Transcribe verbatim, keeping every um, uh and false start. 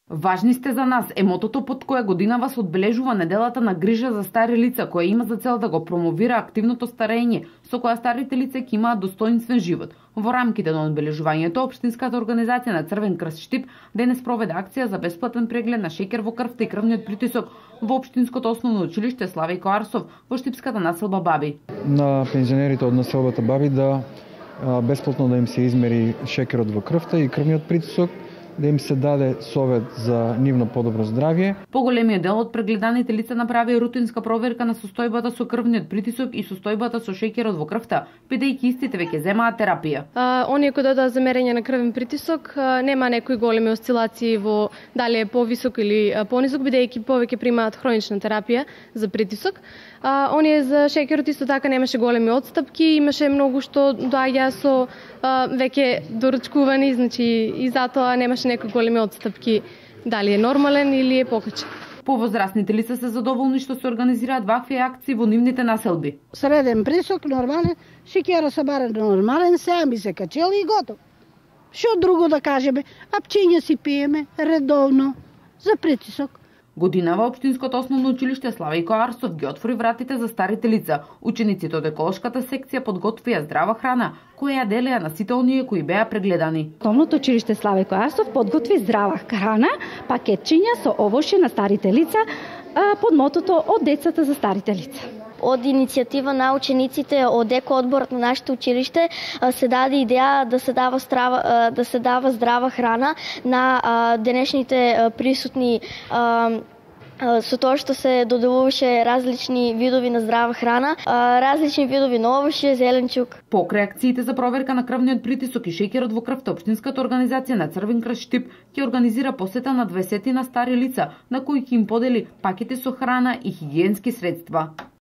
Важни сте за нас е мотото под кое годинава се одбележува неделата на грижа за стари лица, која има за цел да го промовира активното старење, со која старите лица ќе имаат достоинствен живот. Во рамките на одбележувањето, Општинската организација на Црвен крст Штип денес проведе акција за бесплатен преглед на шеќер во крвта и крвниот притисок во Општинското основно училиште Славејко Арсов во Штипската населба Баби. На пензионерите од населбата Баби да бесплатно да им се измери шеќерот во крвта и крвниот притисок, да им се даде совет за нивно подобро здравје. Поголемиот дел од прегледаните лица направи рутинска проверка на состојбата со крвниот притисок и состојбата со шеќерот во крвта, бидејќи истите веќе земаат терапија. А, оние кои дојдоа за мерење на крвен притисок, а, нема некои големи осцилации во дали е повисок или понисок, бидејќи повеќе примаат хронична терапија за притисок. А, оние за шеќерот исто така немаше големи отстапки, имаше многу што доаѓа со а, веќе доручкувани, значи и затоа немаше некои големи отстапки дали е нормален или е покачен. Повозрастните лица се задоволни што се организираат вакви акции во нивните населби. Среден пресок, нормален, шеќера се баре нормален, сега ми се качел и готов. Што друго да кажеме? Апчиња си пиеме редовно за притисок. Годинава Општинското основно училиште Славејко Арсов ги отвори вратите за старите лица. Учениците од еколошката секција подготвија здрава храна, која ја делеа на сите оние кои беа прегледани. Основното училиште Славејко Арсов подготви здрава храна, пакетчиња со овошје на старите лица под мотото од децата за старите лица. Од иницијатива на учениците од екоодборот на нашето училиште се даде идеја да се дава здрава, да се дава здрава храна на денешните присутни со тоа што се доделуваше различни видови на здрава храна, различни видови на овошје, зеленчук. Покрај акциите за проверка на крвниот притисок и шеќерот во крвта, Општинската организација на Црвен крст Штип ќе организира посета на двесетина стари лица, на кои ќе им подели пакети со храна и хигиенски средства.